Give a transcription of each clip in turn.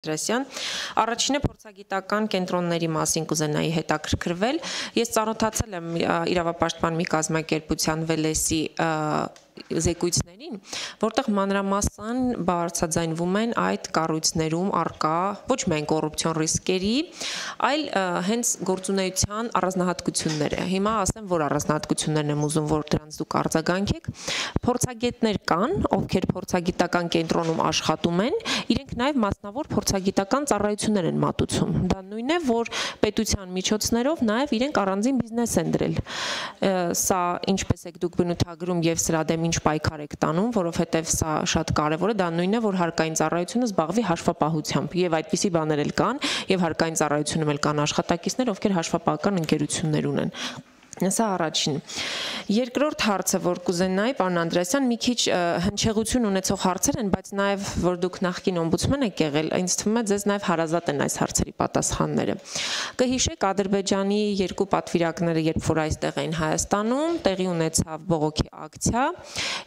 Առաջինը փորձագիտական կենտրոնների մասին կուզենայի հետաքրքրվել։ Ես ծանոթացել եմ իրավապաշտպան մի կազմակերպության Վելեսի զեկույցներին, որտեղ մանրամասն բարձրաձայնվում են այդ կառույցներում առկա ոչ միայն կոռուպցիոն ռիսկերի, այլ հենց գործունեության առանձնահատկությունները։ Հիմա ասեմ, որ առանձնահատկություններն եմ ուզում, որ դրանց դուք արձագանքեք։ Փորձագետներ կան, ովքեր փորձագիտական կենտրոնում աշխատում են, իրենք նաև մասնավոր փորձագիտական ծառայություններ են մատուցում։ Դա նույնն է, որ պետության միջոցներով նաև իրենք առանձին բիզնես են դրել։ Սա ինչպես եք դուք բնութագրում եւ սրա դեմ ինչ պայքար եք տանում, որովհետեւ սա շատ կարեւոր է, դա նույնն է, որ հարկային ծառայությունը զբաղվի հաշվապահությամբ եւ այդպիսի բաներ էլ կան եւ հարկային ծառայությունում էլ կան աշխատակիցներ, ովքեր հաշվապահական ընկերություններ ունեն։ Սա առաջին։ Երկրորդ հարցը, որ կուզենայի, պարոն Անդրեասյան, մի քիչ հնչեղություն ունեցող հարցեր են, բայց նաև որ դուք նախկին օմբուդսմեն եք եղել, ինձ թվում է ձեզ նաև հարազատ են այս հարցերի պատասխանները։ Կհիշեք Ադրբեջանի երկու պատվիրակները, երբ որ այստեղ էին Հայաստանում, տեղի ունեցավ բողոքի ակցիա,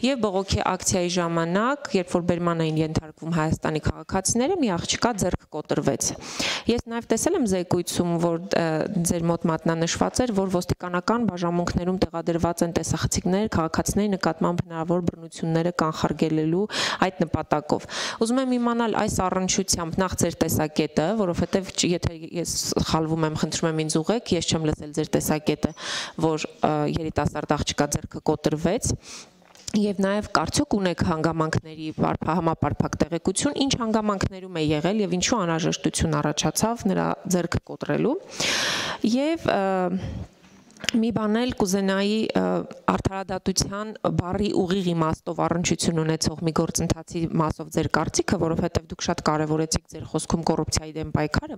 եւ բողոքի ակցիայի ժամանակ, երբ որ բերման էին ենթարկվում Հայաստանի քաղաքացիները, մի աղջկա ձեռք կոտրվեց։ Ես նաև տեսել եմ զեկույցում, որ ձեր մոտ մատնանշված էր, որ ոստիկանական բաժանմունքներում տեղադրված են տեսախցիկներ քաղաքացիների նկատմամբ հնարավոր բռնությունները կանխարգելելու այդ նպատակով։ Ուզում եմ իմանալ այս առնչությամբ նախ ձեր տեսակետը, որովհետև եթե ես սխալվում եմ, խնդրում եմ ինձ ուղղեք, ես չեմ լսել ձեր տեսակետը, որ երիտասարդ աղջկա ձեռքը կոտրվեց։ Եվ նաև կարծիք ունեք հանգամանքների համապարփակ տեղեկություն, ինչ հանգամանքներում է եղել եւ ինչու անհրաժեշտություն առաջացավ նրա ձեռքը կոտրելու։ Եվ մի բան էլ կուզենայի արդարադատության բառի ուղիղ իմաստով առնչություն ունեցող մի գործընթացի մասով ձեր կարծիքը, որովհետև դուք շատ կարևորեցիք ձեր խոսքում կոռուպցիայի դեմ պայքարը։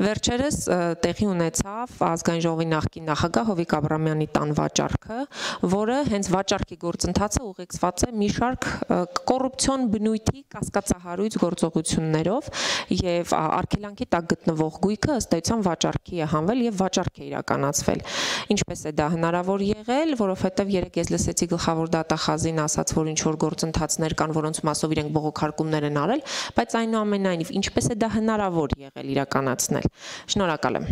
Վերջերս տեղի ունեցավ ազգային ժողովի նախկին նախագահ Հովիկ Աբրամյանի տան վաճառքը, որը հենց վաճառքի գործընթացը ուղեկցված է մի շարք կոռուպցիոն բնույթի կասկածահարույց գործողություններով եւ արգելանքի տակ գտնվող գույքը ըստ էության վաճառքի է հանվել եւ վաճառք է իրականացվել։ Ինչպես է դա հնարավոր եղել, որովհետև երեք ես լսեցի գլխավոր դատախազին ասաց, որ ինչ-որ գործընթացներ կան, որոնց մասով իրենք բողոքարկումներ են արել, բայց այնուամենայնիվ ինչպես է դա հնարավոր եղել իրականացնել։ Շնորհակալ եմ։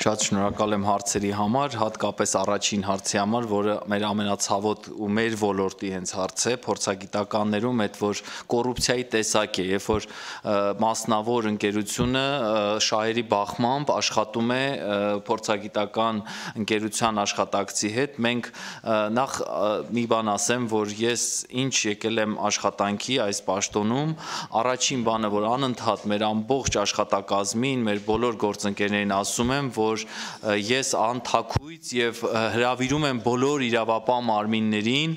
Շատ շնորհակալ եմ հարցերի համար, հատկապես առաջին հարցի համար, որը մեր ամենացավոտ ու մեր ոլորտի հենց հարց է, փորձագիտականներում այդ որ կոռուպցիայի տեսակ է, երբ որ մասնավոր ընկերությունը շահերի բախմամբ աշխատում է փորձագիտական ընկերության աշխատակցի հետ, մենք նախ մի բան ասեմ, որ ես ինչ եկել եմ աշխատանքի այս պաշտոնում, առաջին բանը, որ անընդհատ մեր ամբողջ աշխատակազմին, մեր բոլոր գործընկերներին ասում եմ, որ ես անթաքույց եւ հրավիրում եմ բոլոր իրավապահ մարմիններին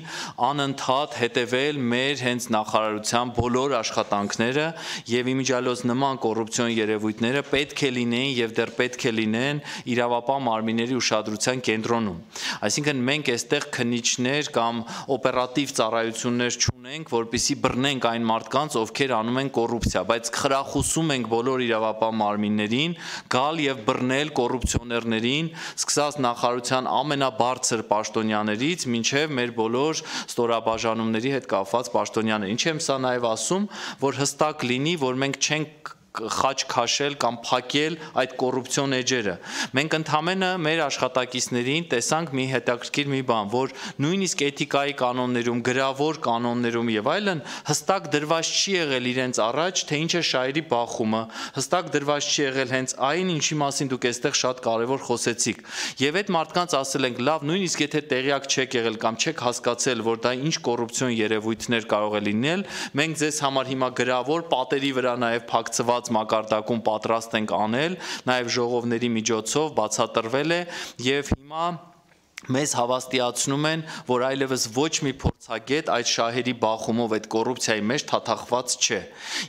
անընդհատ հետևել մեր հենց նախարարության բոլոր աշխատանքները եւ իմիջիալոց նման կոռուպցիոն երևույթները պետք է լինեն եւ դեռ պետք է լինեն իրավապահ մարմինների ուշադրության կենտրոնում։ Այսինքն մենք այստեղ քննիչներ կամ օպերատիվ ծառայություններ չունենք, որպեսզի բռնենք այն մարդկանց, ովքեր անում են կոռուպցիա, բայց խրախուսում ենք բոլոր իրավապահ մարմիններին գալ եւ բռնել կոռուպցիոներներին, սկսած նախարարության ամենաբարձր պաշտոնյաներից մինչև մեր բոլոր ստորաբաժանումների հետ կապված պաշտոնյաներ։ Ինչ եմ սա նաև ասում, որ հստակ լինի, որ մենք չենք խաչ քաշել կամ փակել այդ կոռուպցիոն էջերը։ Մենք ընդհանրապես մեր աշխատակիցներին տեսանք մի հետաքրքիր մի բան, որ նույնիսկ էթիկայի կանոններում, գրավոր կանոններում եւ այլն հստակ դրված չի եղել իրենց առաջ, թե ինչ է շահերի բախումը, հստակ դրված չի եղել հենց այն, ինչի մասին դուք այստեղ շատ կարեւոր խոսեցիք։ Եվ այդ մարդկանց ասել ենք, լավ, նույնիսկ եթե տեղյակ չեք եղել կամ չեք հասկացել, որ դա ինչ կոռուպցիոն երևույթներ կարող է լինել, մենք ձեզ համար հիմա գրավոր պատերի վրա նաեւ փակցված մակարդակում պատրաստ ենք անել, նաև ժողովների միջոցով բացատրվել է եւ հիմա մեզ հավաստիացնում են, որ այլևս ոչ մի փորձագետ այդ շահերի բախումով այդ կոռուպցիայի մեջ թաթախված չէ։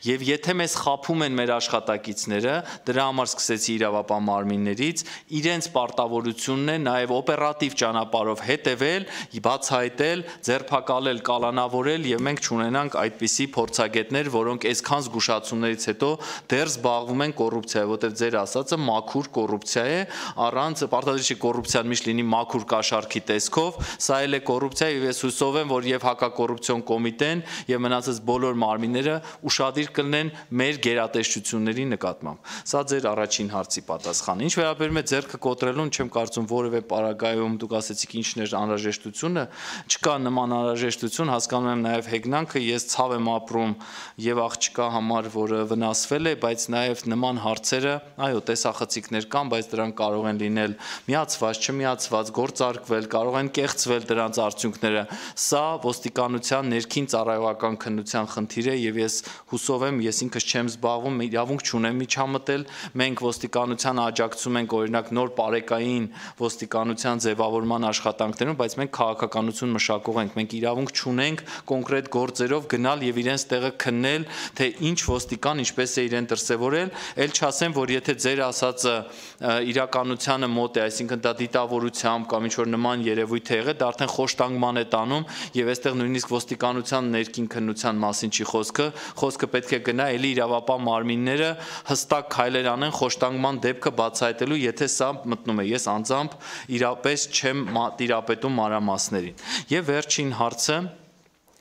Եվ եթե մեզ խաբում են մեր աշխատակիցները, դրա համար սկսեցի իրավապահ մարմիններից, իրենց պարտավորությունն է նաև օպերատիվ ճանապարհով հետևել, բացահայտել, ձերբակալել, կալանավորել եւ մենք չունենանք այդպիսի փորձագետներ, որոնք այսքան զգուշացումներից հետո դեռ զբաղվում են կոռուպցիայով, որտեղ ձեր ասածը մաքուր կոռուպցիա է, առանց պարտադիր չի կոռուպցիան միշտ լինի մաքուր կաշառքի տեսքով, սա էլ է կոռուպցիա եւ ես հուսով եմ, որ եւ հակակոռուպցիոն կոմիտեն եւ մնացած բոլոր մարմինները ուշադիր կլինեն մեր գերատեսչությունների նկատմամբ։ Սա ձեր առաջին հարցի պատասխանը։ Ինչ վերաբերում է ձեռքը կոտրելուն, չեմ կարծում որևէ պարագայում դուք ասեցիք ինչն էր անհրաժեշտությունը, չկա նման անհրաժեշտություն, հասկանում եմ նաեւ հեգնանքը, ես ցավ եմ ապրում եւ աղջկա համար, որը վնասվել է, բայց նաեւ նման հարցերը, այո, տեսախցիկներ կան, բայց դրանք կարող են լինել միացված, չմիացված, գործարկվել, կարող են կեղծվել դրանց արդյունքները։ Սա ոստիկանության ներքին ծառայողական քննության խնդիր է եւ ես հուսով եմ, ես ինքս չեմ զբաղվում, իրավունք չունեմ միջամտել, մենք ոստիկանության աջակցում ենք օրինակ նոր պարեկային ոստիկանության ձևավորման աշխատանքներում, բայց մենք քաղաքականություն մշակող ենք, մենք իրավունք չունենք կոնկրետ գործերով գնալ եւ իրենց տեղը քննել, թե ինչ ոստիկան ինչպես է իրեն դրսևորել, ել չասեմ, որ եթե ձեր ասածը իրականությանը մոտ է, այսինքն դա դիտավորությամբ կամ ինչ որ նման երևույթ է եղել, դա արդեն խոշտանգման է տանում եւ այստեղ նույնիսկ ոստիկանության ներքին քննության մասին չի խոսքը պետք է գնա էլի իրավապահ մարմինները հստակ քայլեր անեն խոշտանգման դեպքը բացահայտելու, եթե սա մտնում է, ես անձամբ իրապես չեմ տիրապետում մանրամասներին։ Եվ վերջին հարցը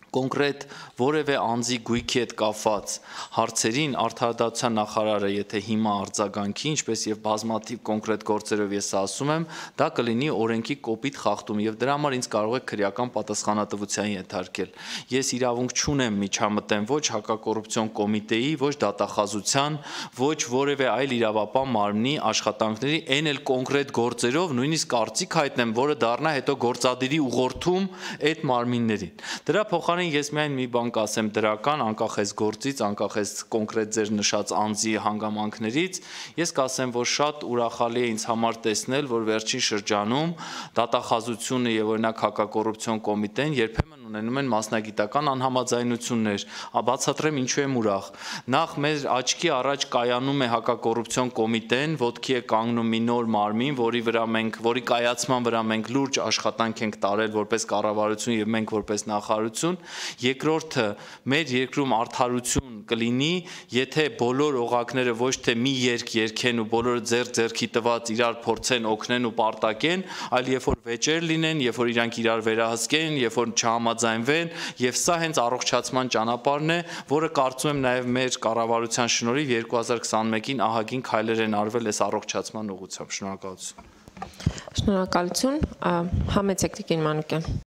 կոնկրետ որևէ անձի գույքի հետ կապված հարցերին արդարադատության նախարարը եթե հիմա արձագանքի, ինչպես եւ բազմաթիվ կոնկրետ գործերով ես ասում եմ, դա կլինի օրենքի կոպիտ խախտում եւ դրա համար ինձ կարող է քրեական պատասխանատվության ենթարկել։ Ես իրավունք չունեմ միջամտեմ ոչ հակակոռուպցիոն կոմիտեի, ոչ դատախազության, ոչ որևէ այլ իրավապահ մարմնի աշխատանքների, այն էլ կոնկրետ գործերով նույնիսկ կարծիք հայտնեմ, որը դառնա հետո գործադիրի ուղղորդում այդ մարմիններին։ Դրա փոխարեն ես միայն մի բան կասեմ դրական, անկախ այս գործից, անկախ այս կոնկրետ ձեր նշած անձի հանգամանքներից, ես կասեմ, որ շատ ուրախալի է ինձ համար տեսնել, որ վերջին շրջանում դատախազությունը եւ օրինակ հակակոռուպցիոն կոմիտեն երբեմն ունենում են մասնագիտական անհամաձայնություններ, բացատրեմ ինչու եմ ուրախ։ Նախ մեր աչքի առաջ կայանում է հակակոռուպցիոն կոմիտեն, ոտքի է կանգնում մի նոր մարմին, որի կայացման վրա մենք լուրջ աշխատանք ենք տարել որպես կառավարություն եւ մենք որպես նախարարություն։ Երկրորդը մեր երկրում արդարություն կլինի, եթե բոլոր օղակները ոչ թե մի երկ երկեն ու բոլորը ձեռքի տված իրար փորձեն օգնեն ու պարտակեն, այլ երբ որ վեճեր լինեն, երբ որ իրանք իրար վերահսկեն, երբ որ չհամաձայնվեն, եւ սա հենց առողջացման ճանապարհն է, որը կարծում եմ նաեւ մեր կառավարության շնորհիվ 2021-ին ահագին քայլեր են արվել այս առողջացման ուղղությամբ։ Շնորհակալություն։ Շնորհակալություն, համեցեք Տիկին Մանուկյան։